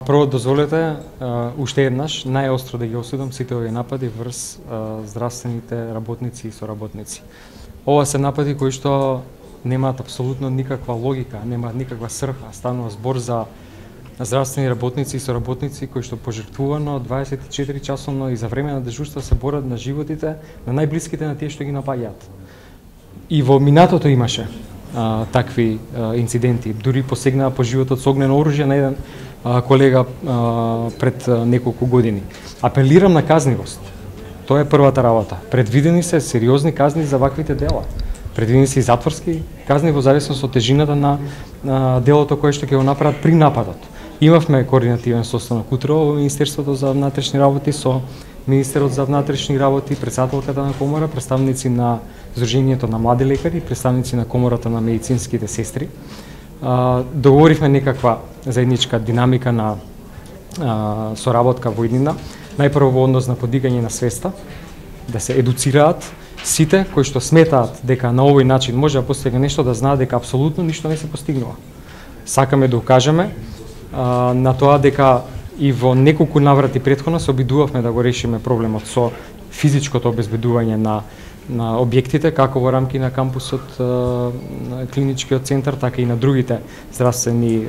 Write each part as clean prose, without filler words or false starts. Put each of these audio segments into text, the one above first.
Прво дозволете уште еднаш најостро да ги осудам сите овие напади врз здравствените работници и соработници. Ова се напади кои што немаат апсолутно никаква логика, немаат никаква срха. Станува збор за здравствени работници и соработници кои што пожртвувано 24 часовно и за време на дежурства се борат на животите на најблиските на тие што ги напаѓаат. И во минатото имаше такви инциденти, дури посегнаа по животот со огнено оружје на еден колега пред неколку години. Апелирам на казнивост. Тоа е првата работа. Предвидени се сериозни казни за ваквите дела. Предвидени се и затворски казни во зависност од тежината на делото кое што ќе го направат при нападот. Имавме координативен состанок утре во Министерството за внатрешни работи со Министерот за внатрешни работи, претседателката на комора, представници на Сдруженијето на млади лекари, представници на Комората на медицинските сестри. Договоривме некаква заедничка динамика на соработка во иднина. Најпрво во однос на подигање на свеста, да се едуцираат сите кои што сметаат дека на овој начин може да постигне нешто, да знаат дека апсолутно ништо не се постигнува. Сакаме да укажеме на тоа дека и во неколку наврати претходно се обидувавме да го решиме проблемот со физичкото обезбедување на објектите, како во рамки на кампусот, клиничкиот центар, така и на другите здравствени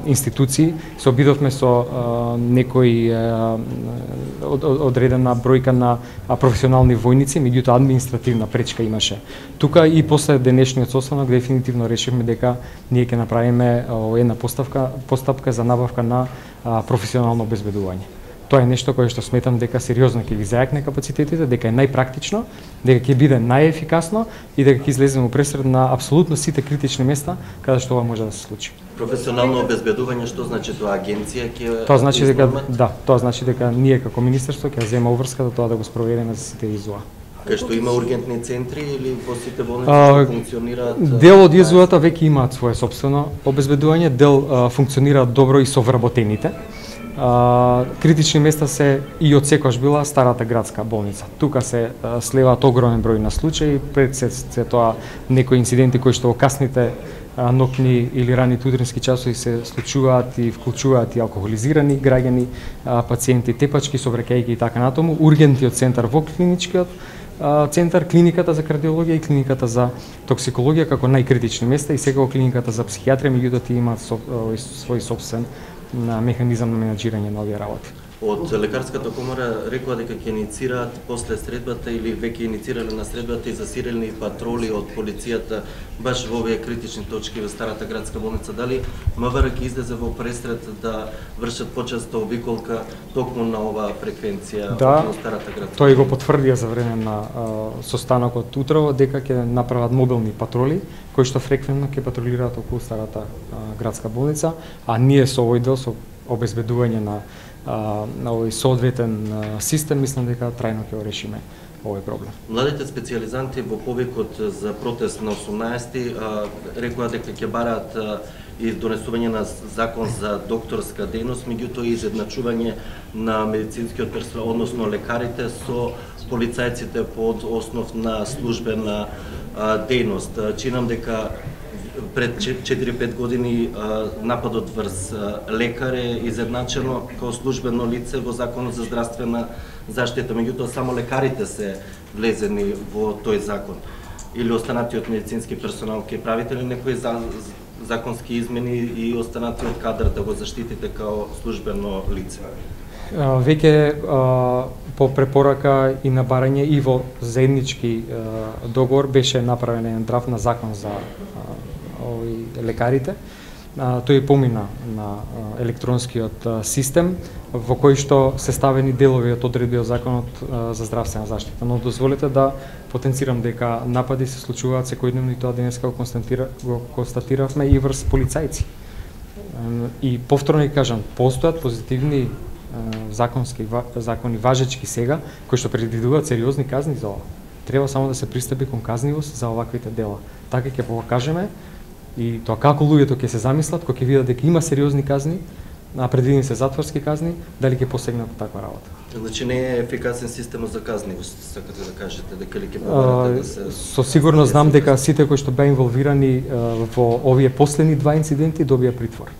институции. Се обидовме со некои одредена бројка на професионални војници, меѓутоа административна пречка имаше. Тука и после денешниот состанок дефинитивно решивме дека ние ќе направиме една постапка за набавка на професионално обезбедување. Тоа е нешто кое што сметам дека сериозно ќе ги зајакне капацитетите, дека е најпрактично, дека ќе биде најефикасно и дека ќе излеземе пресред на апсолутно сите критични места каде што ова може да се случи. Професионално обезбедување, што значи тоа, агенција ќе Тоа значи дека тоа значи дека ние како министерство ќе земе обврска до тоа да го спроведеме за сите ИЗУА. Кај што има ургентни центри или во сите болници што функционираат? Дел од ИЗУ-та веќе имаат свое сопствено обезбедување, дел функционираат добро и со вработените. Критични места се и од секојаш била старата градска болница. Тука се слеваат огромен број на случаи, пред се тоа некои инциденти кои што во касните ноќни или раните утрински часови се случуваат и вклучуваат и алкохолизирани граѓани, пациенти тепачки, собрекајки и така натаму. Ургентниот центар во клиничкиот центар, клиниката за кардиологија и клиниката за токсикологија како најкритични места и секако клиниката за психијатрија, меѓутоа тие имаат свој собствен на механизам на менаџирање на овие работи. Од лекарската комора рекоа дека ќе иницираат после средбата или веќе иницирале на средбата и засилени патроли од полицијата баш во овие критични точки во старата градска болница. Дали МВР ќе излезе во пресред да вршат почеста обиколка токму на оваа фреквенција во старата градска? Тој го потврдија за време на состанокот утрово дека ќе направат мобилни патроли кои што фреквентно ќе патрулираат околу старата градска болница, а ние со овој дел со обезбедување на овој соодветен систем, мислам дека трајно ќе го решиме овој проблем. Младите специјализанти во повикот за протест на 18-ти рекоа дека ќе бараат и донесување на закон за докторска дејност, меѓутоа и изедначување на медицинскиот персонал, односно лекарите со полицајците под основ на службена дејност. Чинам дека пред 4-5 години нападот врз лекар е изедначено како службено лице во Законот за здравствена заштита, меѓутоа само лекарите се влезени во тој закон. Или останатиот медицински персонал, ќе правите ли некои законски измени и останатиот кадар да го заштитите како службено лице? Веќе по препорака и на барање и во заеднички договор беше направен еден драфт на закон за лекарите. Тој помина на електронскиот систем во кој што се ставени делови од одредби од Законот за здравствена заштита. Но дозволете да потенцирам дека напади се случуваат секојдневно и тоа денеска го констатиравме и врз полицајци. И повторно кажам, постојат позитивни закони важечки сега кои што предвидуваат сериозни казни за ова. Треба само да се пристапи кон казнивост за оваквите дела. Така ќе покажеме и тоа како луѓето ќе се замислат кога ќе видат дека има сериозни казни, предвидени се затворски казни, дали ќе посегнат по таква работа. Значи не е ефикасен системот за казнивост, сакате да кажете, дека ли ќе побарате да се... Со сигурност знам дека сите кои што беа инволвирани во овие последни два инциденти добија притвор.